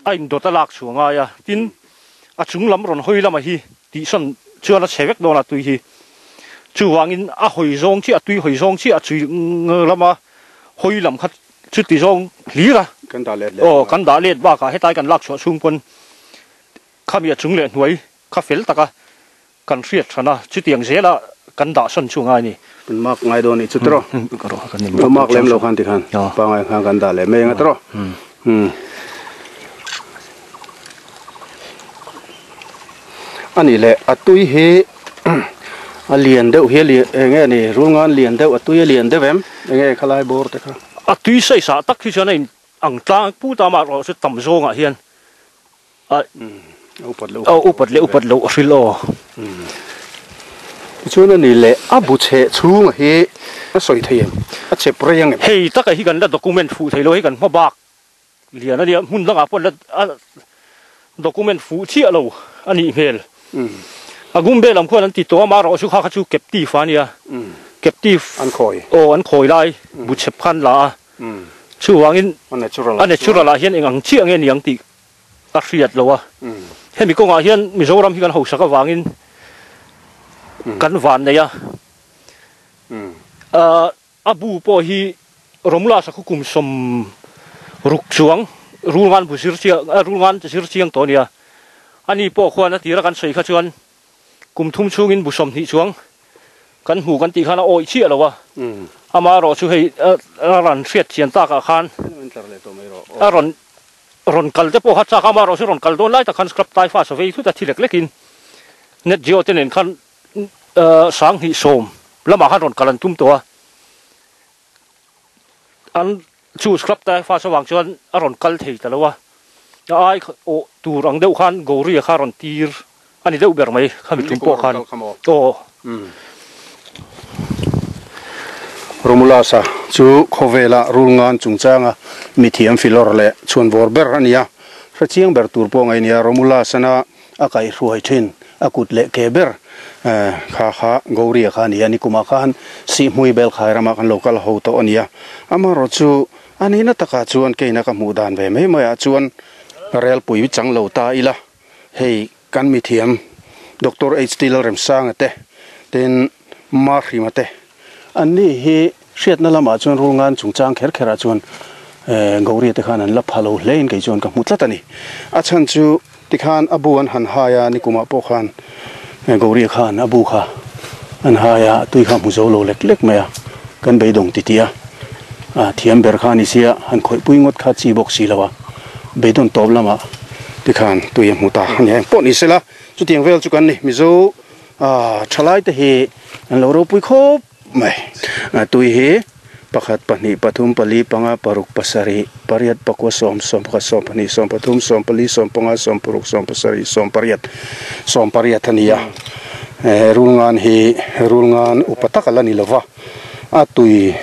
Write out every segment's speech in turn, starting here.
A indawt a lak chhuah ngai a, tin, a chung lam rawn hawi lama hi tihsawn chuan a chhe vek dawn a tui hi. Chuvangin a hawi zawng chiah, a tui hawi zawng chiah a chui lama hawi lam kha chuti zawng hlir a. Kan dah let leh. Aw, kan dah let bakah hetlai kan lak chhuah chhung pawn khami a chung leh hnuai kha fel taka kan hriat hran a, chutiang zela kan dah sawn chu ngai a ni. Kan mark ngai dawn nih chu tiraw? Lo mark lem lo khan tikhan pangai khan kan dah leh mai anga tiraw? A nih leh a tui hi a lian deuh hi eng nge ni rulngan lian deuh a tui a lian deuh em? Eng nge khalai bawr te kha? A tui sawisah tak hi chuan a in ang tlang pu ta mah erawh chu tam zawngah hian A upat leh upat leh upat loh a hril aw. Tichuan a ni leh a bu chheh chhunga hi a sawi thei em? A chep rei ang em? Hei taka hi kan la document fuh thei lo hei kan hma bak lian a nia hmun dangah pawh la document fuh chiah lo a nih hmel. A Gumbe lam khuan an ti tawh a amaherawh chu kha kha chu captive a nia captive an khawi aw an khawi lai bu chhep khan la a chuvangin a natural ah hian eng ang chiah nge niang tih a hriat lo a, hemi kawngah hian Mizoram hi kan hausak avangin kan van nei a, a bu pawh hi Romula sakhaw kum 60 chuang rulngan bu zir chiang rulngan zir chiang tawh a nia, ani pawh khuan a tira kan sawi kha chuan kum thum chhungin bu 20 chuang kan hmu kan tih khan a awih chiah lo a, amaherawh chu hei a rawn hriat chian takah khan a rawn Rawn kal te pawh kha chak a, amaherawh chu rawn kal dawn lai tak khan scrub tai fa vei thut a thi lek lekin net geo te nen khan 2010 lamah khan rawn kal an tum tawh a, an chu scrub tai fa avang chuan a rawn kal thei ta lo a, a ai awh tur ang deuh khan Gauri-a kha rawn tir a ni deuh ber mai khami tum pawh khan aw. Romulus-a chu khawvela rulngan chungchanga mithiam filawr leh chhuanvawr ber a ni a, hrechiang ber tur pawh ngaih a ni a. Romulus-ana a kaihhruai thin a kut leh ke ber kha kha Gauria kha a ni a, nikumah khan Sihhmui Belkhai ramah kan lo kal ho tawh a ni a. Amaherawh chu a nihna takah chuan keina ka hmuh dan ve mai maiah chuan relpui chang lo ta ila hei Kan mithiam Doctor HT Lalremsanga te, tin Marhrima te, an ni hi hriatna lamah chuan rulngan chungchang kher kherah chuan Gauria te khan an la pha lo hle in kei chuan ka hmu tlat a ni. A chhan chu tikhan a bu an han hai a, nikumah pawh khan Gauria khan a bu kha an hai a, a tui kha hmu zo lo lek lek mai a, kan beidawng titih a, a thiam ber kha a ni sia, han khawihpui ngawt kha chi bawk si lo a. Beidawn tawp lamah tikhan tui a hmu ta a ni a, engpawh ni sela chutiang vel chu kan ni. Mizo thalai te hi an lo ropui khawp mai. Tui hi pakhat, pahnih, pathum, pali, panga, paruk, pasarih, pariat, pakua, sawm, sawmpakhat, sawmpahnih, sawmpathum, sawmpali, sawmpanga, sawmparuk, sawmpasarih, sawmpariat, sawmpariat a ni a. Rulngan hi rulngan upa tak a la ni lova. A tui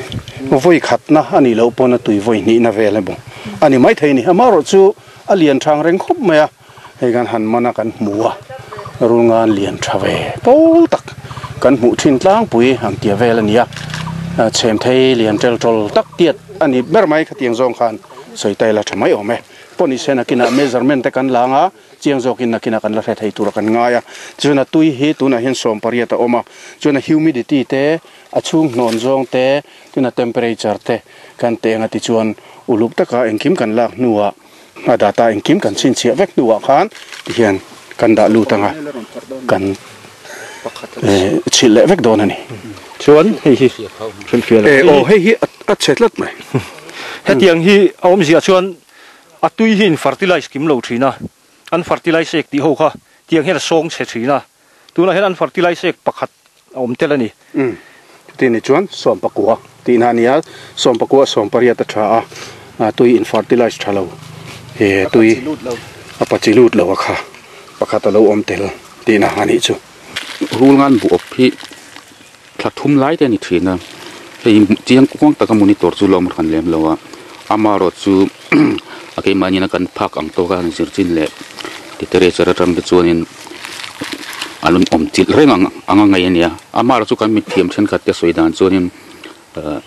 vawi khatna a nih loh pawn a tui vawi hnihna vel emaw a ni maithei a ni. Amaherawh chu a lian thang reng khawp mai a, hei kan han man a kan hmu a, rulngan lian tha ve pawl tak kan hmuh thin tlangpui ang tia vel a ni a, chhem thei lian tel tawl tak tiat a ni ber mai khatiang zawng khan sawi ta ila tha mai awm e. Pawh ni se nakinah measurement te kan lang a. Chiang zawkin nakinah kan la hre thei tura kan ngai a, chuan a tui hi tunah hian 80 a awm a, chuan a humidity te, a chhung hnawn zawng te, chuan a temperature te kan teh anga tichuan uluk taka engkim kan lak hnuah a data engkim kan chhinchhiah vek hnuah khan tihian kan dah lut anga kan chhilh leh vek dawn a ni. Chuan hei hi hrilhfiah lo. Aw hei hi a chhe tlat mai. Hetiang hi a awmziah chuan A tui hi in fertilize kim lo thin a, an fertilize ek tih ho kha tiang hian a sawng chhe thin a, tunah hian an fertilize ek pakhat a awm tel a ni. Umm, chuti ni chuan 19 tihna a ni a, 19 80 a tha a, a tui in fertilize tha lo, he tui a pachi lut lo a kha pakhat a lo awm tel tihna a nih chu. Rulngan bu awp hi thla thum lai te a ni thin a, hei chiang kuang taka monitor chu lawm hran lem lo a, amaherawh chu a keimahni ina kan phak ang tawk a han zir chin leh literature atang te chuanin a lo awm chilh reng ang anga ngaih a ni a, amaherawh chu kan mithiam thenkhat te sawi dan chuanin ahh.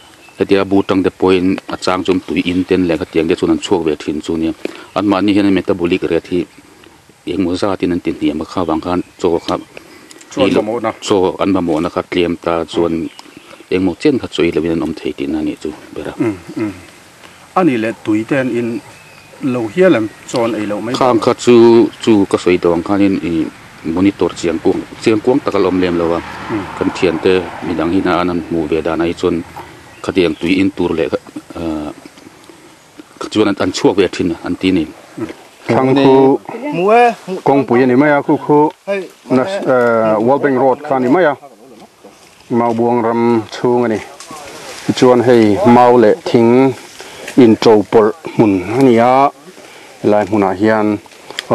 Hetia bu tang te pawhin a chang chu tui in ten leh khatiang te chuan an chhuak ve thin chu nia. Anmahni hian metabolic rate hi engmaw zatin an ti hniam a kha vang khan chaw kha chaw an mamawhna kha tlem ta chuan engmaw chen kha chaw ei lovin an awm thei tihna a nih chu ber a. A nih leh tui te an in lo hial em chaw an ei loh mai Khang kha chu chu ka sawi tawh ang khanin ih monitor chiang kuang chiang kuang tak a la awm lem lo a, kan thiante midang hi an han hmuh ve danah hi chuan khatiang tui in tur leh ahh chuan an chhuak ve thin an ti a ni. Thlang khu kawngpui a ni mai a, khu khu World Bank Road kha a ni mai a, Maubuang ram chhung a ni. Tichuan hei mau leh thing inṭo pawlh hmun a ni a, helai hmunah hian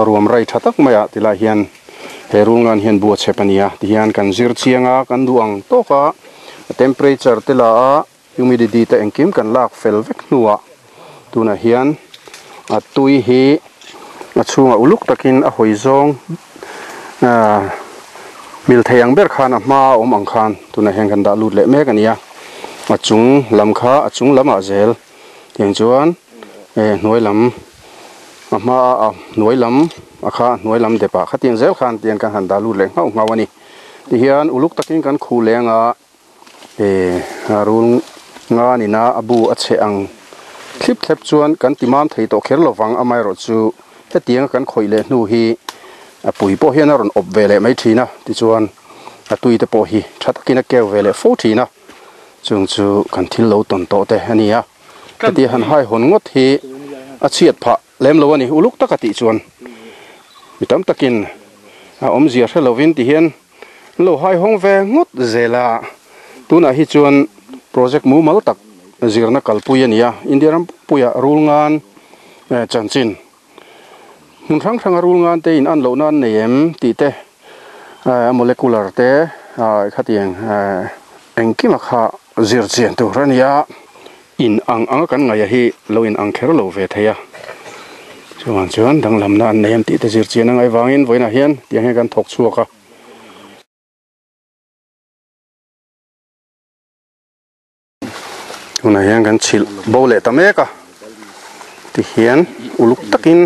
ruam rai tha tak mai ah tilai hian he rulngan hian bu a chhep a ni a, tihian kan zir chiang a, kan duh ang tawk a, temperature te la a, Humidity te engkim kan lak fel vek hnuah tunah hian a tui hi a chhungah uluk takin a hawi zawng ahh mil thei ang ber khan a hma a awm ang khan tunah hian kan dah lut leh mek a ni a, a chung lam kha a chung lamah zel tiang chuan eh hnuai lam a hma a hnuai lam a kha a hnuai lam depah khatiang zel khan tiang kan han dah lut leh nghauh nghauh a ni tihian uluk takin kan khuh leng a. Ehh a rul nga nina a bu a chhe ang thlip thlep chuan kan ti mam thei tawh kher lovang amaherawh chu hetianga kan khawih leh hnu hi a pui pawh hian a rawn awp ve leh mai thin a tichuan a tui te pawh hi tha takin a keu ve leh fo thin a chung chu kan thil lo tawn tawh te a ni a heti han haihawn ngawt hi a chhiat phah lem lo a ni uluk taka tih chuan mi tam takin a awmzia hre lovin ti hian. Lo haihawng ve ngawt zel a, tunah hi chuan project mumal tak zirna kalpui a ni a, India ram puiah rulngan chanchin hmun hrang hranga rulngan te in an lohna an nei em tih te a molecular te khatiang engkima kha zir chian tur a ni a, in ang anga kan ngaih a hi lo in ang kher lo ve thei a, chuvang chuan danglamna an nei em tih te zir chian a ngaih vangin vawiinah hian tiang hian kan thawk chhuak a. Tunah hian kan chhilh bo leh ta mek a tihian uluk takin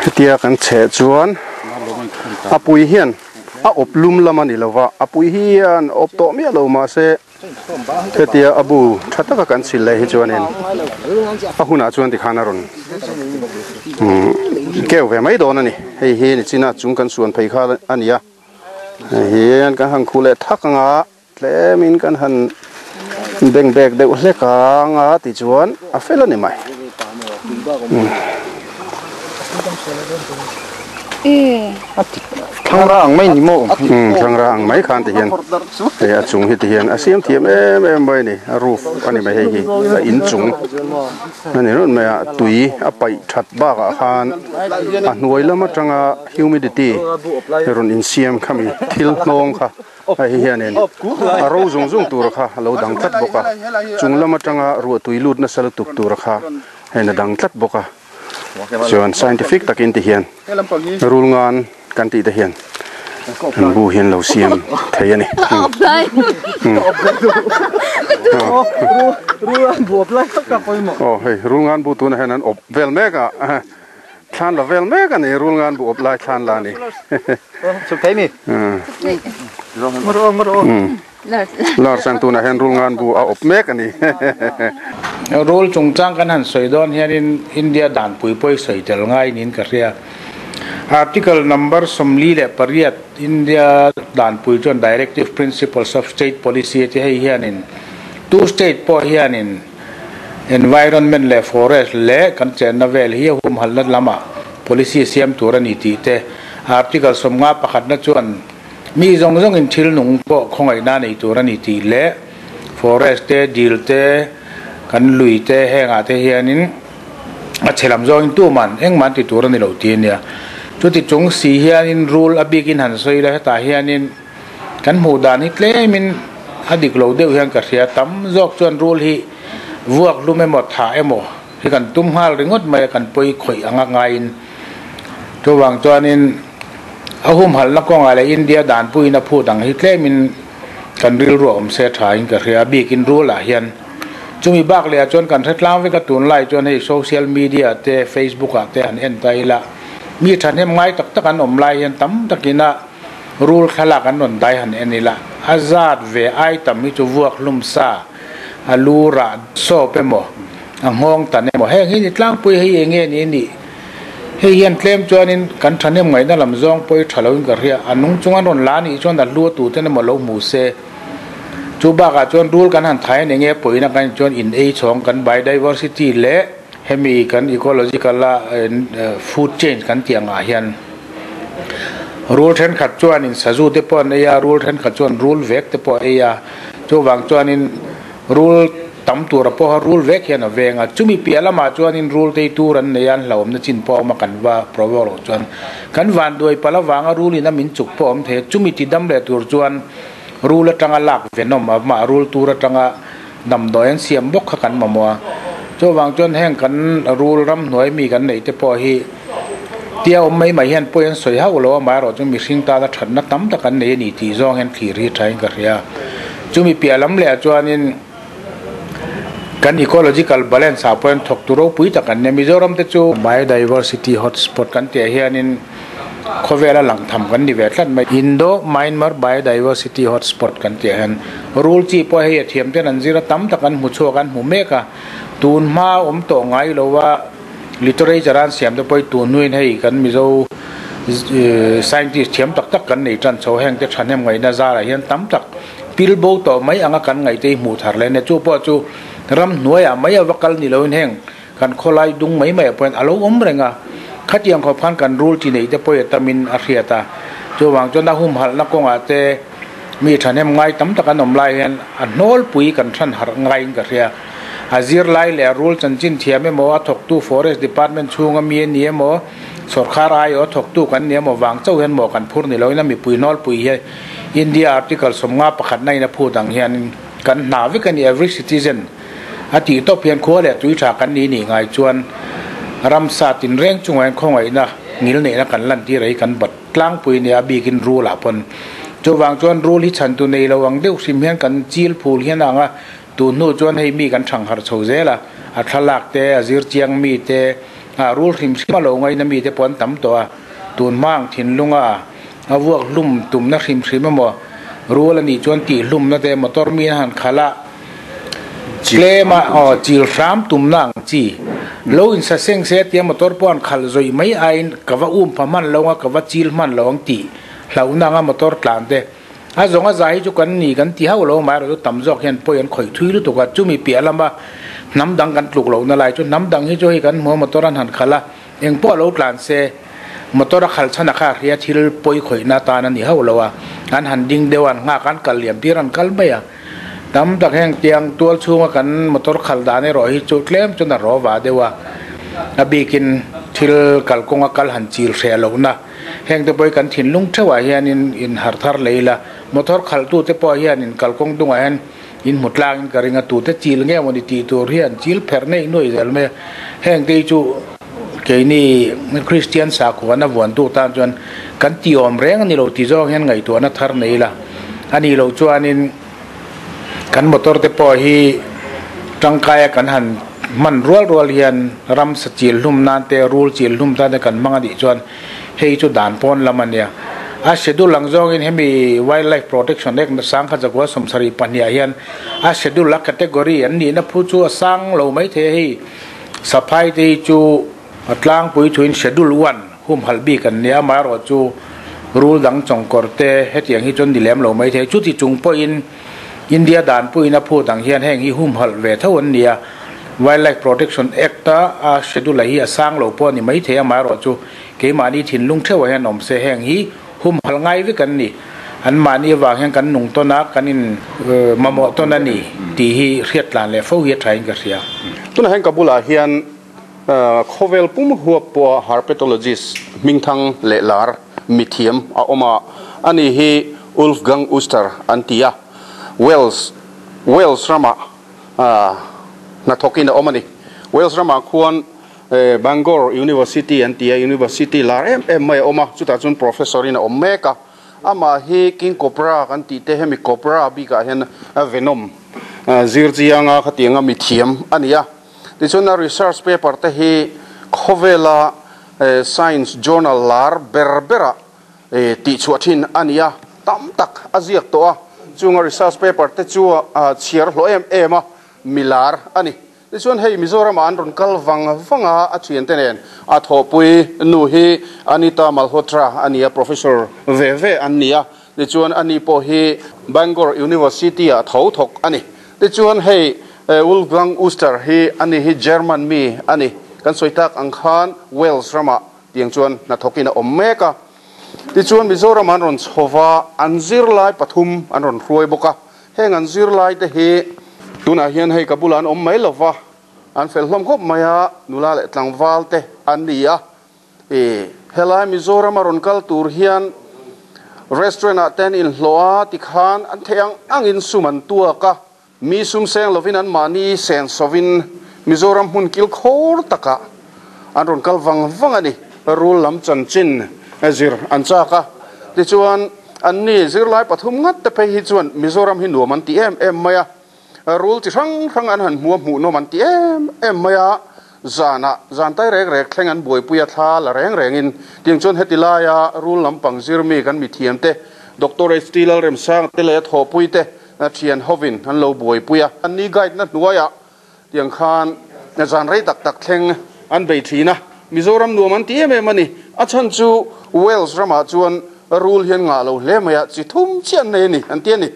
hetia kan chheh chuan a pui hian a awp lum lam a ni lova a pui hian awp tawh miah lo mahse Hetia a bu tha taka kan chhil leh hi chuanin a hunah chuan tikhan a rawn keu ve mai dawn a ni. Hei hi nichina chung kan suan phei kha a ni a, hei hian kan han khuh leh thak anga tlemin kan han beng bek deuh hlek anga tichuan a fel a ni mai. Thlangra ang mai ni maw? Thlangra ang mai khan ti hian hei a chung hi ti hian a siam thiam em em mai a ni a roof a ni mai hei hi a in chung a ni run mai a tui a paih that bakah khan a hnuai lam atanga humidity rawn insiam khami thil hnawng kha hei hi hianin a ro zung zung tur kha a lo dang tlat bawk a chung lam atanga ruah tui lut nasa lutuk tur kha hei a dang tlat bawk a. Chuan scientific takin ti hian rul ngan kan tih te hian an bu hian lo siam thei a ni. Aw hei rul ngan bu tunah hian an awp vel mek a thlan la vel mek a ni rul ngan bu awp lai thlan la a ni. Lar chuan tunah hian rul ngan bu a awp mek a ni. Rul chungchang kan han sawi dawn hianin India danpui pawh i sawi tel ngai niin ka hria. Article number 48 India danpui chuan Directive Principles of State Policy a ti hei hianin tu state pawh hianin environment leh forest leh kan chenna vel hi a humhalna lamah policy siam tur a ni tih te Article 51 na chuan Mi zawng zawngin thil nung pawh khawngaihna nei tur a ni tih leh forest te, dil te, kan lui te hengah te hianin a chhe lam zawngin tuman engmah an ti tur a ni lo ti a nia. Chuti chung si hianin rul a bikin han sawi ila hetah hianin kan hmuh dan hi tlemin a dik lo deuh hian ka hria. Tam zawk chuan rul hi vuak hlum emaw thah emaw hi kan tum nghal ringawt mai a, kan pawi khawih anga ngaiin. Chuvang chuanin a humhalhna kawngah leh India danpuiin a phut ang hi tlemin Kan rilru awm se tha in ka hria bikin rul ah hian chumi bak leh ah chuan kan hre tlang vek a tunlai chuan hei social media te facebook ah te han en ta ila mi thahnem ngai tak tak an awm lai hian tam takin a rul thlalak an rawn dai han en ila a zat ve ai tam hi chu vuak hlum sa a lu rah sawp emaw a nghawng tan emaw heng hi ni tlangpui hei eng nge ni nih. Hei hian tlem chuanin kan thahnem ngaihna lam zawng pawh hi tha loin ka hria. A nung chung an rawn la anih chuan a hlu a tuten emaw lo hmu se. Chu bakah chuan rul kan han thai eng nge pawina kan in chuan in ei chhawng kan biodiversity leh hemi kan ecological a food chain kan tih angah hian rul thenkhat chuanin sazu te pawh an ei a, rul thenkhat chuan rul vek te pawh a ei a. Chuvang chuanin. Rul tam tura pawha rul vek hian a veng a, chumi piah lamah chuanin rul tei tur an nei a, an hlauhawmna chin pawh a awm a, kan va provo loh chuan kan vanduai palh avanga rulin a min chuk pawh a awm thei a, chumi ti dam leh tur chuan rul atanga lak venawm a mah rul tur atanga damdawi an siam bawk kha kan mamawh a, chuvang chuan heng kan rul ramhnuai mi kan neih te pawh hi tia awm mai mai hian pawi an sawi hauh lo a, amaherawh chu mihring tana thatna tam tak an nei a ni tih zawng hian thlir hi thain ka hria. Chumi piah lam leh ah chuanin kan ecological balance ah pawh hian thawktu ropui tak an nia. Mizoram te chu biodiversity hotspot kan tih ah hianin khawvela lang tham kan ni ve tlat mai. Indo Myanmar biodiversity hotspot kan tih ah hian rul chi pawh hei a thiam ten an zir a tam tak an hmu chhuak an hmu mek a, tun hma awm tawh ngai lo a. Literature an siam te pawh hi tun hnuin hei kan Mizo scientist thiam tak tak kan nei tan chho heng te thahnem ngaihna zarah hian tam tak pil bo tawh mai anga kan ngaih te hi hmuh thar leh a nia. Chu pawh chu ramhnuaiah mai a va kal ni loin heng kan khawlai dung mai mai ah pawh hian a lo awm reng a. Khatiang khawp khan kan rul chi neih te pawh hi a tamin a hriat a. Chuvang chuan a humhalhna kawngah te mi thahnem ngai tam tak an awm lai hian a hnawlpui kan hran harh ngaiin ka hria. A zirlai leh a rul chanchin thiam emaw, a thawktu Forest Department chhunga mi a ni emaw, sawrkar aiawh a thawktu kan ni emaw vang chauh hian maw kan phur ni loin a mipui hnawlpui hi India Article 51 na in a phut ang hian kan hna vek a ni every citizen a tih tawp hian khua leh tui tha kan ni nih ngai chuan ramsa tinreng chungah hian khawngaihna ngil neihna kan lantir hi kan bat tlangpui a ni a bikin rul ah pawn chuvang chuan rul hi chhantu nei lo ang deuh hrim hian kan chil phul hian a ang a. Tun hnu chuan hei mi kan thang harh chho zel a, a thlalak te, a zir chiang mi te, a rul hrim hrim a lo ngaina mi te pawh an tam tawh a, tun hma ang thinlunga a vuak hlum tumna hrim hrim emaw rul a nih chuan tih hlumna te motor mi a han khalh a, tlem a aw chil hram tumna ang chi lo insa seng se tia motor pawh an khalh zawih mai aiin ka va um pha hman lo ang a, ka va chil hman lo ang tih hlauhna anga motor tlan te. A zawng a zai hi chu kan ni kan ti hauh lo mai erawh chu tam zawk hian pawi an khawih thui lutuk a, chumi piah lama hnam dang kan tluk lohna lai chu hnam dang hi chu hei kan hmu a motor an han khalh a, eng pawh a lo tlan se motor a khalh chhan a kha hria thil pawi khawihna atan a ni hauh lo a, an han ding deuh a an nghak a an kal liam tir an kal mai a, tam tak heng tiang tual chhunga kan motor khalh dan erawh hi chu tlem chuan a rawva deuh a, a bikin thil kalkawnga kal han chil hreh lohna. Heng te pawh hi kan thinlung theuhah hianin in harh thar lei ila, motor khalhtute pawh hianin kalkawng dungah hian in hmu tlangin ka ring a, tute chil nge mawni tih tur hi an chil pherh neih nuai zel mai a. Heng te hi chu keini Kristian sakhuana vuantu tan chuan kan tih awm reng a ni lo tih zawng hian ngaihtuahna thar nei ila, a nih loh chuanin kan motor te pawh hi tangkaia kan han hman rual rual hian ramsa chil hlum nan te rul chil hlum tan te kan hmang a nih chuan hei chu dan pawn lam a nia. A schedule ang zawngin hemi Wildlife Protection Act 1972 ah hian a schedule a category an nihna phu chu a sang lo maithei a hei saphai te hi chu a tlangpui thuin schedule one humhalh bik an nia amaherawh chu rul dang chawngkawr te hetiang hi chuan ni lem lo maithei chuti chung pawhin India danpuiin a phut ang hian heng hi humhalh ve tho an ni a, Wildlife Protection Act a a schedule hi a sang lo pawh a ni maithei amaherawh chu keimahni thinlung theuhah hian awm se heng hi humhalh ngai vek an ni. Anmahni avang hian kan nung tawn a, kan in mamawh tawn a ni tih hi hriat tlan leh fo hi a thain ka hria. Tunah hian ka bulah hian khawvel pum huap pawha herpetologist hmingthang leh lar mithiam a awm a, ani hi Ulfgang Uster an ti a, Wales Wales ramah hnathawkin a awm a ni. Wales ramah khuan Bangor University an ti a, University lar em em mai a awm a, chutah chuan professor in a awm mek a. Amah hi King Cobra kan tih te hemi Cobra bikah hian venom zir chianga khatianga mithiam a ni a. Tichuan a research paper te hi khawvela science journal lar ber berah tihchhuah thin a ni a, tam tak a ziak tawh a. Chunga research paper te chu chhiar hlawh em em a, milar a ni. Tichuan hei Mizoramah an rawn kal vang vang a, a thiante nen a thawhpui nu hi Anita Malhotra a ni a, professor ve ve an ni a. Tichuan ani pawh hi Bangor University-ah tho thawk a ni. Tichuan hei Wolfgang Uster hi ani hi German mi a ni. Kan sawi tak ang khan Wales ramah tiang chuan hnathawkin a awm mek a. Tichuan Mizoram an rawn chho va, an zirlai pathum an rawn hruai bawk a. Heng an zirlai te hi tunah hian hei ka bulah an awm mai lo va, an fel hlawm khawp mai a, nula leh tlangval te an ni a. I helai Mizoram a rawn kal tur hian restaurant ah te an inhlawh a, tikhan an theih ang angin sum an tuak a, mi sum seng lovin an mahni sen sovin Mizoram hmun kil khawr takah an rawn kal vang vang a ni. Rul lam chanchin zir an chak a, tichuan anni zirlai pathum ngat te phei hi chuan Mizoram hi nuam an ti em em mai a, rul chi hrang hrang an han hmu a hmuhnawm an ti em em mai a, zanah zan tai rek rek thleng an buaipui a thla la reng rengin tiang chuan heti laia rul lampang zirmi kan mithiam te Doctor HT Lalremsanga te leh a thawhpui te thian hovin an lo buaipui a, anni guide na hnuaiah Tiang khan zan rei tak tak thleng an bei thin a, Mizoram nuam an ti em em a ni. A chhan chu Wales ramah chuan rul hian ngah lo hle mai a, chi thum chiah an nei a ni an ti a ni.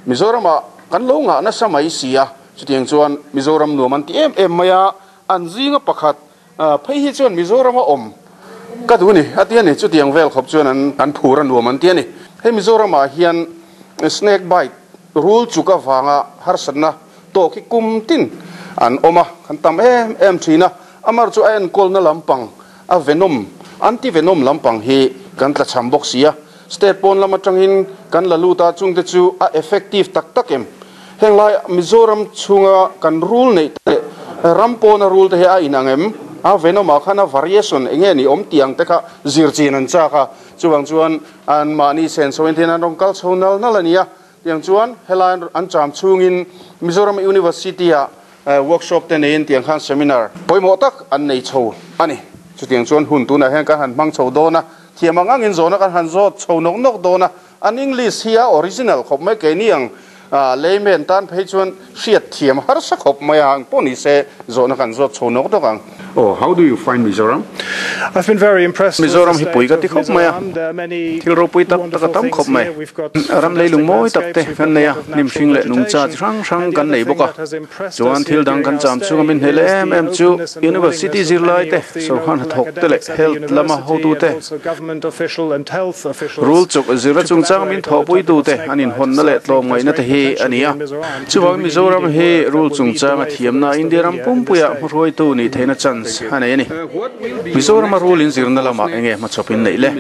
Mizoramah kan lo ngah nasa mai si a, chutiang chuan Mizoram nuam an ti em em mai a, an zinga pakhat phei hi chuan Mizorama awm ka duh a ni a ti a ni. Chutiang vel khawp chuan an phur a nuam an ti a ni. Hei Mizoramah hian snake bite rul chuk avanga harsatna tawk hi kum tin an awm a, kan tam em em thin a, amar chu a enkawlna lampang a venom, anti venom lampang hi kan tla cham bawk si a, state pawn lam atangin kan la lut a, chungte chu a effective tak tak em? Heng lai Mizoram chhunga kan rul neih te leh ram pawna rul te hi a inang em? A venom ah khan a variation eng nge ni awm tih ang te kha zir chin an chak a, chuvang chuan an mahni senso in thian an rawn kal chho nal nal a ni a. Tiang chuan helai an cham chhungin Mizoram University-ah workshop te neiin tiang khan seminar pawimawh tak an nei chho a ni. Chutiang chuan hun tunah hian kan han hmang chho dawn a, thiam ang angin zawhna kan han zawt chho nawk nawk dawn a, an English hi a original khawp mai keini ang layman tan phei chuan hriat thiam harsa khawp mai a, engpawh ni se zawhna kan zawt chho nawk nawk ang. Oh, how do you find Mizoram? I've been very impressed with Mizoram the hi pui state ka ti of khawp mai a, Mizoram. There are many thil ropui tak tak a wonderful tam things khawp mai. here. We've got Ram fantastic leilung mawi tak te landscapes, we've kan got nei a a, lot of hnim natural hring leh nungcha vegetation. chi hrang hrang And the kan other nei thing bawk a. that has impressed Chuan us thil here dang during kan our cham chhunga stay min hnel is em the em chu openness and the University willingness of zirlai many te, of the sawrkar local hnathawk te leh academics at the health lama university hotu and te, also government official and health officials Rul chuk zirna to chungchang min collaborate on the thawhpui topic of tute snake an bite. inhawnna So leh I think there's tlawmngaihna te great hi a potential ni here a. in Mizoram to do Chuvangin really Mizoram leading hi work that rul will lead the chungchanga way for the thiamna rest of India ram India in this pumpuiah state. hmahruaitu nih theihna chance a nei a ni. Mizorama rul inzirna lamah enge hmachhawpin neih le?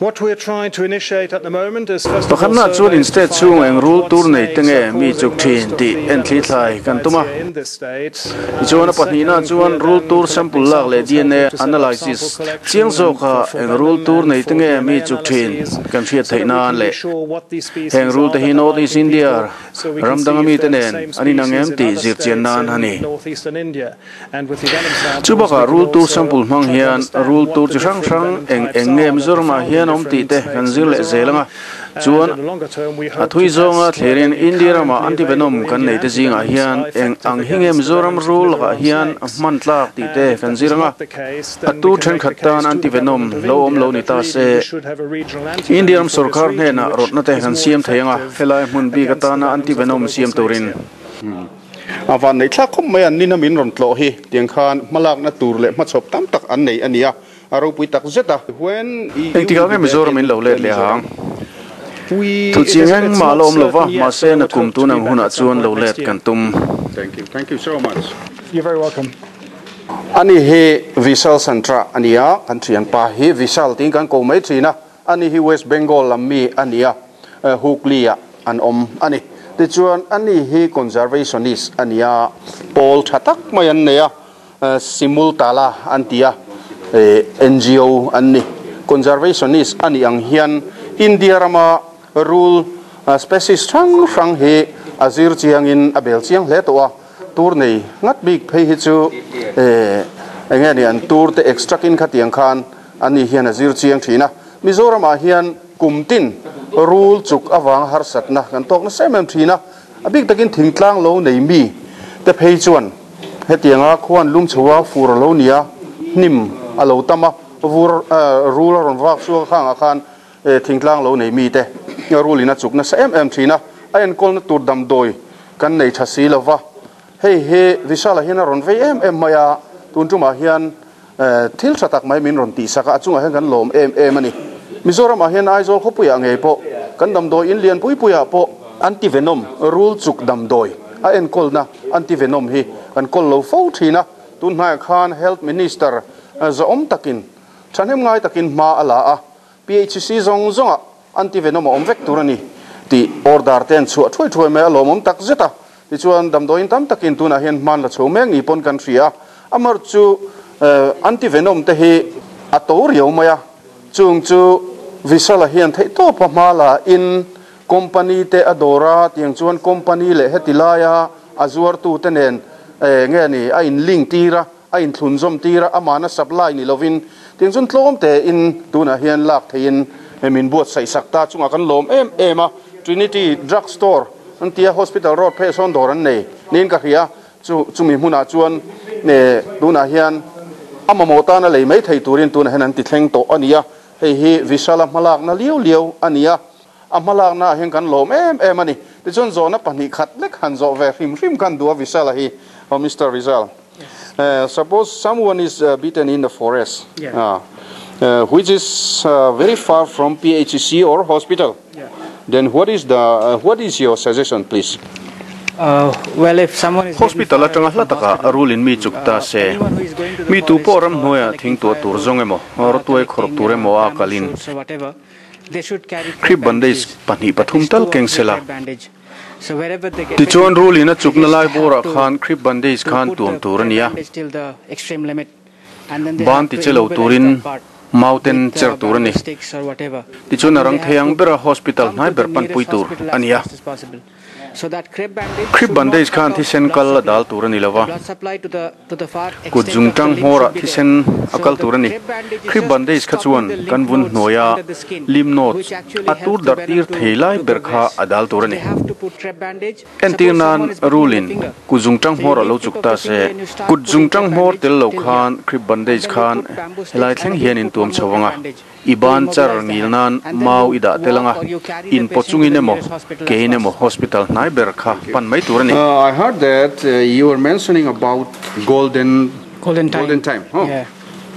What we're trying to initiate at the moment is first of all Pakhatna chuan in surveys to state find chhung eng out rul what tur nei te snakes nge are mi causing chuk most thin of tih the en thli venomous thlai snake kan bites tum a. here in this state. Tichuan And a pahnihna second, chuan we're rul then tur collecting sample lak leh samples, DNA helping to set up analysis sample chiang collection and zawka for eng rul venom tur and nei te for nge mi DNA chuk thin analyses kan hriat so theih that we nan can be leh sure what these heng species rul are te hi that are North East biting India people so we ram can see danga if mi te they're the nen same an inang species em in tih other zir chian states nan a in ni. northeastern India. And with the venom Chu samples, bakah we can rul tur also sample hmang try to hian understand rul what tur the chi hrang different hrang venom eng types eng nge are that are Mizoramah found in hian awm tih different te kan snakes in zir leh zel Mizoram. ang a. Chuan And in the longer term, we a hope thui to zawnga test thlerin whether the India rama currently anti-venom available kan Indian nei te zingah antivenoms hian are eng ang effective hi nge against the Mizoram venoms of rul lakah Mizoram hian a snakes. hman tlak tih And te if kan that zir is ang a. not the case, A then we tur can make the thenkhat tan case to the anti-venom government of lo awm India lo ni that ta really se. we should have a regional India antivenom ram for this sorkar region, hnenah which rawtna te is kan more siam thei ang a, effective helai hmun bik against the atana venoms of the anti-venom local siam snakes turin. here. A van neih thlak khawp mai an nina min rawn tlawh hi tiang khan hmalakna tur leh hmachhawp tam tak an nei a ni a, a ropui tak zet a. When you Engtikah will nge be back Mizoram in in lo let leh Mizoram? ang? Thu chiang engmah la awm lo va, mahse na kum tun ang hunah chuan lo let kan tum. Thank you. Thank you so much. You're very welcome. Ani hi Vishal Santra a ni a, kan thianpa hi Vishal tiin kan ko mai thin a, ani hi West Bengal lam mi a ni a, Hooghly-ah an awm a ni. Tichuan ani hi conservationist a ni a, pawl tha tak mai an nei a, Simultala an ti a, NGO an ni. Conservationist a nih ang hian India rama rul species hrang hrang hi a zir chiangin a bel chiang hle tawh a, tur nei ngat bik phei hi chu eng nge ni an tur te extract in khatiang khan ani hian a zir chiang thin a. Mizoramah hian kum tin rul chuk avanga harsatna kan tawk nasa em em thin a, a bik takin thingtlang lo nei mi te phei chuan hetianga khuan lum chho a fur a lo ni a, hnim a lo tam a, vur rul a rawn vak chhuak a khangah khan thingtlang lo nei mi te rul in a chuk nasa em em thin a, a enkawlna tur damdawi kan nei tha si lova, hei hi Vishal-a hian a rawn vei em em mai a, tun tumah hian thil tha tak mai min rawn tihsak a, a chungah hian kan lawm em em a ni. Mizoramah hian Aizawl khawpuiah ngei pawh kan damdawi in lian pui puiah pawh anti-venom rul chuk damdawi a enkawlna anti-venom hi kan kawl lo fo thin a, tun hnaiah khan Health Minister zawhawm takin thahnem ngai takin hma a la a, PHC zawng zawngah anti-venom a awm vek tur a ni tih order te an chhuah thuai thuai mai a, lawmawm tak zet a. Tichuan, damdawiin tam takin tunah hian hman la chho mek ni pawn kan hria a, amar chu anti-venom te hi a to riau mai a, chung chu Vishal-a hian theihtawpa hma la in company te a dawr a, tiang chuan company leh heti laia a zuartu te nen nge ni a in link tir a, a inthlunzawm tir a, amahna supply ni lovin tiang chuan tlawm tein tunah hian lak theihin min buatsaih sak ta chungah kan lawm em em a, Trinity Drug Store an tia Hospital Road phei sawn dawr an nei niin ka hria, chu chumi hmunah chuan tunah hian a mamawh tana lei mai thei turin tunah hian an ti thleng tawh a ni a, hei hi Vishala hmalakna liau liau a ni a, a hmalakna ah hian kan lawm em em a ni. Tichuan zawhna pahnih khat lek han zawh ve hrim hrim khan duh a Vishala hi, oh Mister Vishal. Suppose someone is bitten in the forest which is very far from PHC or hospital then what is the what is your suggestion please? Hospital atanga hla taka rul in mi chuk ta se, mi tu pawh ramhnuaia thing tuah tur zawng emaw, rawtuai khawrh tur emaw a kalin Crepe bandage pahnih pathum tal keng sela. Tichuan rulin a chukna lai bawrah khan crepe bandage khan tuam tur a ni a, ban ti che lo turin mauten cher tur a ni. Tichuan a rang thei ang bera hospital hnai ber panpui tur a ni a. Crepe bandage khan thisen kal a dal tur a ni lo va, kut zungtang hmawrah thisen a kal tur a ni. Crepe bandage kha chuan kan vun hnuaia lymph nodes a tur darh tir thei lai ber kha a dal tur a ni. Entir nan rulin kut zungtang hmawr a lo chuk ta se, kut zungtang hmawr tel lo khan crepe bandage khan helai thleng hian in tuam chho ang a. I ban char ngil nan mau i dah tel anga, in pawh chungin emaw, kein emaw hospital hnai ber kha pan mai tur a ni. I heard that you were mentioning about golden Golden time. Golden time, huh?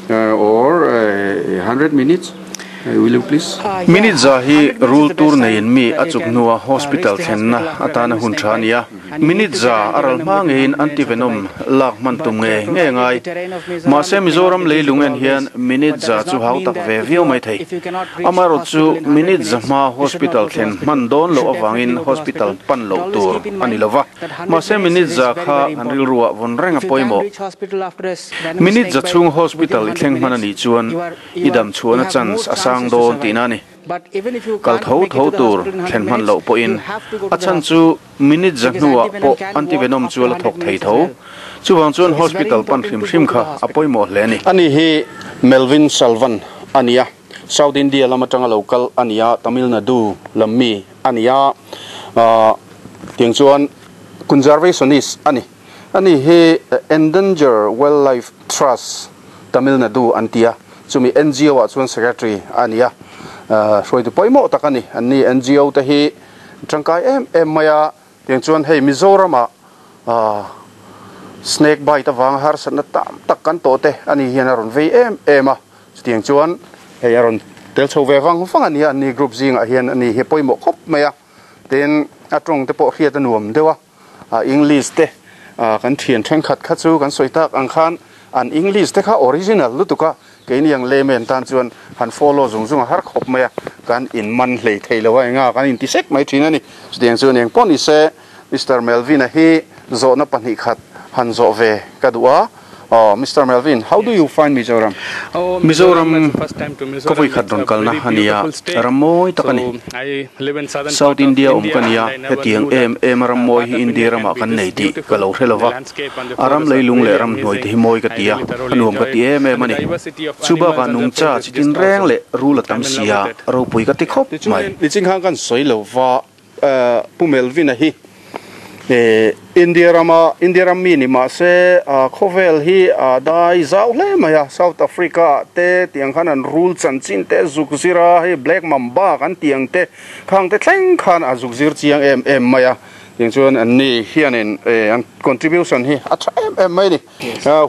Yeah. Or 100 minutes? Will you please? Minute za hi rul tur neiin mi a chuk hnua hospital thlenna atana hun tha a ni a. Minute za a ral hma ngeiin anti-venom lak hman tum nge nge ngai. Mahse Mizoram leilung en hian minute za chu hau tak ve viau mai thei. Amaherawh chu minute za hma hospital thlen hman dawn loh avangin hospital pan loh tur a ni lova. Mahse minute za kha kan rilruah vawn reng a pawimawh. Minute za chhung hospital i thleng hman a nih chuan i dam chhuahna chance a sang dawn tihna a ni. Kal tho tho tur thlen hman loh pawhin a chhan chu minute za hnuah pawh anti-venom chu a la thawk thei tho. Chuvang chuan hospital pan hrim hrim kha a pawimawh hle a ni. Ani hi Melvin Salvan a ni a, South India lam atanga lo kal a ni a, Tamil Nadu lam mi a ni a, tiang chuan conservationist a ni. Ani hi Endangered Wildlife Trust Tamil Nadu an ti a, chumi NGO ah chuan secretary a ni a, hruaitu pawimawh tak a ni. Anni NGO te hi tangkai em em mai a, tiang chuan hei Mizoramah snake bite avanga harsatna tam tak kan tawh te ani hian a rawn vei em em a, chutiang chuan hei a rawn tel chho ve vang vang a ni a, anni group zingah hian ani hi pawimawh khawp mai a, tin a tawng te pawh hriat a nuam deuh a. English te kan thian thenkhat kha chu kan sawi tak ang khan an English te kha original lutuk a, keini ang layman tan chuan han follow zung zung a har khawp mai a, kan in man hlei thei lo a enga kan inti sek mai thin a ni. Chutiang chuan eng pawh ni se Mister Melvin-a hi zawhna pahnih khat han zawh ve ka duh a, Aw Mister Melvin, how do you find Mizoram? Mizoram ka vawi khat rawn kalna a ni a, ram mawi tak a ni. South India awm ka ni a, hetiang em em a ram mawi hi India ramah kan nei tih ka lo hre lo va. A ram leilung leh ram hnuai te hi mawi ka ti a, a nuam ka ti em em a ni. Chu bakah nungcha chi tin reng leh rul a tam si a, ropui ka ti khawp mai. Niching khan kan sawi lo va, Pu Melvin-a hi India rama India ram mi ni mah se khawvel hi a dai zau hle mai a, South Africa ah te tiang khan an rul chanchin te zuk zir a, hei Black Mamba kan tih ang te khang te thleng khan a zuk zir chiang em em mai a, tiang chuan an ni hianin an contribution hi a tha em em mai a ni.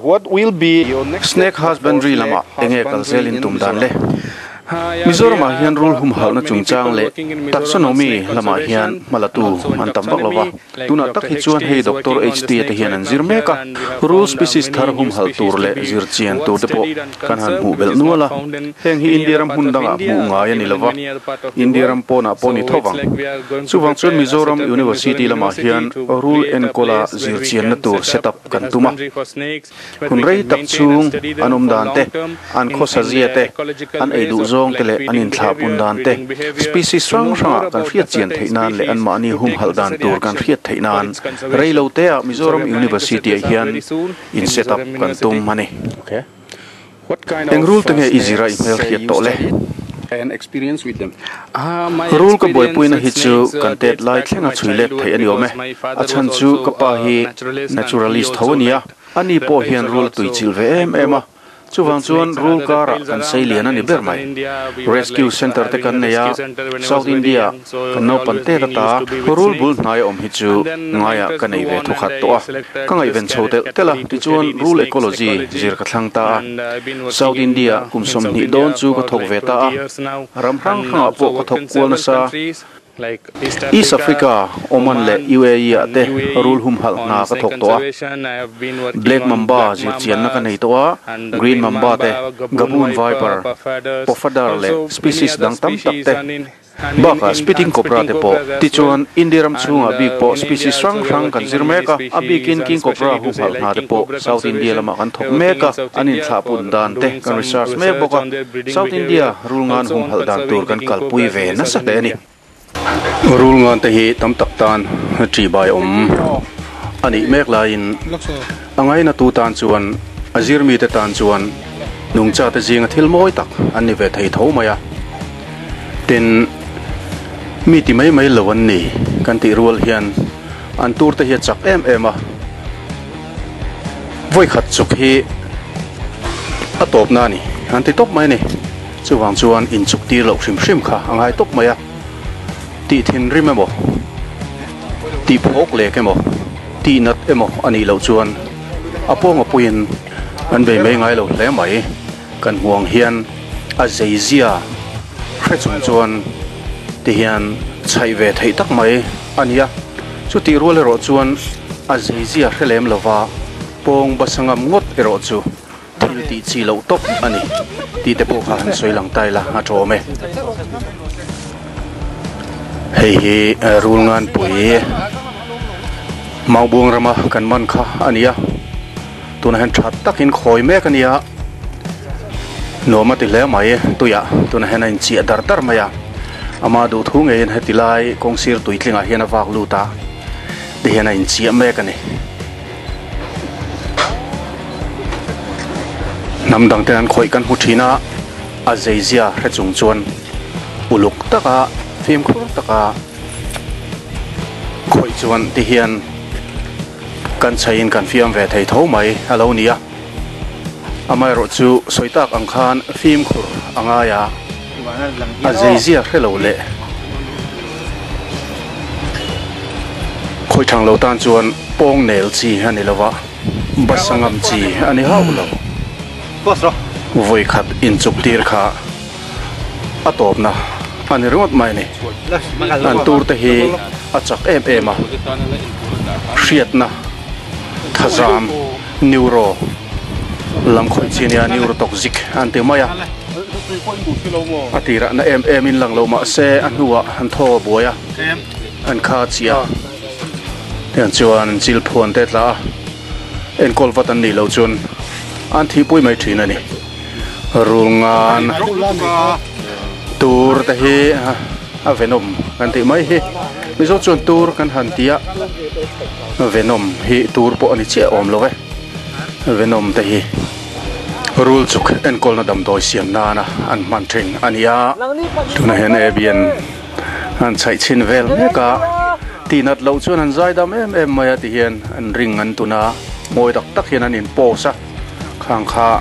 What will be your next Snake husbandry lamah enge kal zel in tum dan le? Mizoramah hian rul humhalhna chungchang leh taxonomy lamah hian hmalatu an tam vak lo va. Tunah tak hi chuan hei Doctor HT te hian an zir mek a, rul species thar humhalh tur leh zir chian tur te pawh kan han hmuh belh nual a. Heng hi India ram hmun dangah hmuh ngai a ni lo va, India ram pawnah pawh ni tho vang. Chuvang chuan Mizoram University lamah hian rul enkawla zir chianna tur set up kan tum a. Hun rei tak chhung an awm dan te, an khawsa zia te, an ei duh zawng te leh an inthlah pun dan te, species hrang hrangah kan hriat chian theih nan leh anmahni humhalh dan tur kan hriat theih nan rei lo teah Mizoram University-ah hian in set up kan tum a ni. Eng rul te nge i zir a i hmel hriat tawh le? Rul ka buaipuina hi chu kan tet lai thlenga chhui let theih a ni awm e. A chhan chu ka pa hi naturalist tho a ni a, ani pawh hian rul a tuichilh ve em em a. Chuvang chuan rul karah kan sei lian a ni ber mai. Rescue Centre te kan nei a, South India kan naupan tet ata rul bul hnai a awm hi chu ngaiah ka nei ve thawkhat tawh a. Ka ngaihven chho telh telh a, tichuan rul ecology zir ka thlang ta a. South India kum 20 dawn chu ka thawk ve ta a, ram hrang hrangah pawh ka thawk kual nasa. East Africa, Oman leh UAE ah te rul humhalh hna ka thawk tawh a. Black Mamba zir chianna ka nei tawh a, Green Mamba te, Gaboon Viper, Pofadder leh species dang tam tak te. Bakah Spitting Cobra te pawh. Tichuan, India ram chhungah bik pawh species hrang hrang kan zir mek a, a bikin King Cobra humhalh hna te pawh South India lamah kan thawk mek a, an inthlahpun dan te kan research mek bawk a, South India rulngan humhalh dan tur kan kalpui ve nasa hle a ni. Rulngan te hi tam tak tan ṭihbai awm a nih mek laiin a ngainatu tan chuan a zirmite tan chuan nungchate zinga thil mawi tak an ni ve thei tho mai a. Tin, mi ti mai mai lo an ni kan tih rual hian an tur te hi a chak em em a, vawi khat chuk hi a tawp na a ni an ti tawp mai a ni. Chuvang chuan inchuk tir loh hrim hrim kha a ngai tawp mai a, tih thinrim emaw, tih phawk lek emaw, tih nat emaw a nih loh chuan a pawnga puiin an bei mai ngai lo hle mai. Kan hmuang hian a zeizia hre chung chuan ti hian chhaih ve theih tak mai a ni a, chutih rual erawh chuan a zeizia hre lem lova pawng basa ngam ngawt erawh chu thil tih chi loh tawp a ni tih te pawh kha han sawi lang ta ila a tawm e. Hei hi Rulnganpui Maubuang rama kan man kha a ni a. Tunah hian tha takin khawi mek a nia, nuam a ti hle mai tuiah tunah hian a inchiah dar dar mai a, ama duh thu ngeiin heti lai kawng sir tui tlingah hian a vak lut a, ti hian a inchiah mek a ni. Hnam dang ten an khawih kan hmu thin a, a zeizia hre chung chuan uluk taka fimkhur taka khawih chuan ti hian. Kan chhaiin kan fiam ve thei tho mai a lo ni a, amaherawh chu sawi tak ang khan fimkhur a ngai a, a zeizia hre lo leh khawih thang lo tan chuan pawng nel chi a ni lo va, basa ngam chi a ni hauh lo. Vawi khat inchuk tir kha a tawpna a ni ringawt mai a ni. An tur te hi a chak em em a, hriatna thazam neuro lam khawih chi nia neurotoxic an ti mai a, a tirah na em em in lang lo mah se a hnuah an thaw a buai a, an kha chiah a, tiang chuan chil phuan te tla a, enkawl vat an nih loh chuan. an thihpui mai thin a ni. Rulngan tur te hi a venom kan tih mai hi Mizo chuan tur kan han ti a, venom hi tur pawh a ni chiah awm lo e, venom te hi rul chuk enkawlna damdawi siam nana an hman thin a ni a. Tunah hian Abian an chhaih chhin vel mek a, tihnat loh chuan an zai dam em em mai a ti hian an ring an tun a, mawi tak tak hian an in pose a, khang kha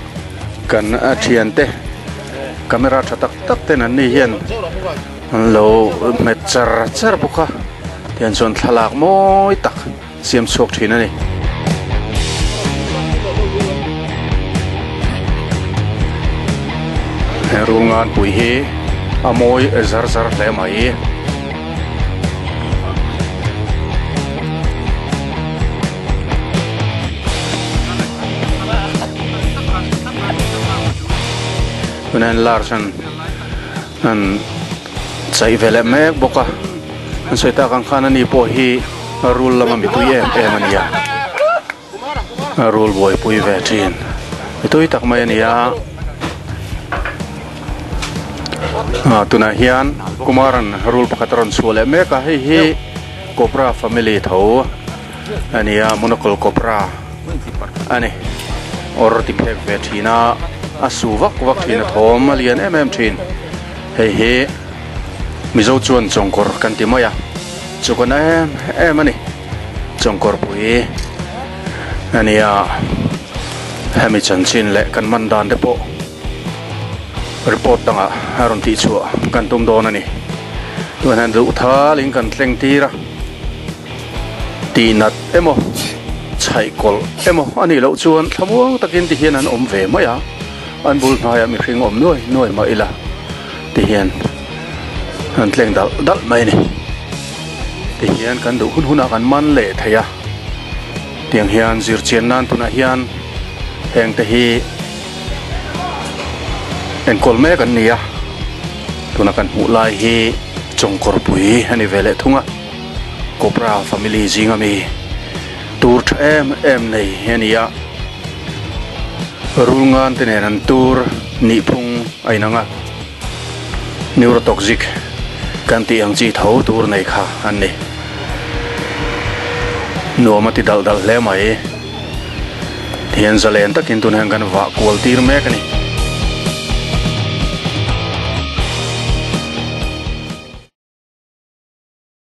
kan thiante camera tha tak tak ten an ni hian an lo hmet char char bawk a, tihian chuan thlalak mawi tak siam chhuak thin a ni. He rulngan pui hi a mawi zar zar hle mai. Tunah hian large an an chei ve leh mek bawk a an sawi tak ang khan ani pawh hi rul lama mitui em em a ni a rul buaipui ve thin mitui tak mai a ni a ah tunah hian Kumaran rul pakhat a rawn chhuah leh mek a hei hi cobra family tho a ni a monocle cobra a ni awr ti phek ve thin a a su vak vak thin a thawm a lian em em thin hei hi Mizo chuan chawngkawr kan ti mai a chu kan em em a ni chawngkawr pui a ni a hemi chanchin leh kan man dan te pawh report dangah a rawn tih chhuah kan tum dawn a ni tunah hian duh thalin kan thleng tir a. Tihnat emaw, chhaihkawlh emaw a nih loh chuan thlamuang takin ti hian an awm ve mai a, an bul hnaiah mihring awm nuai nuai mah ila ti hian an tleng dalh dalh mai a ni. Ti hian kan duh hun hunah kan man leh thei a, tiang hian zirchian nan tunah hian heng te hi enkawl mek an ni a, tuna kan hmuh lai hi Chawngkawrpui a ni ve leh thung a. Cobra family zinga mi tur tha em em nei a ni a, rulngan te nen an tur nihphung a inang a, neurotoxic kan tih ang chi tho tur nei kha an ni. Nuam a ti dalh dalh hle mai. Tihian zalen takin tunah hian kan vah kual tir mek a ni.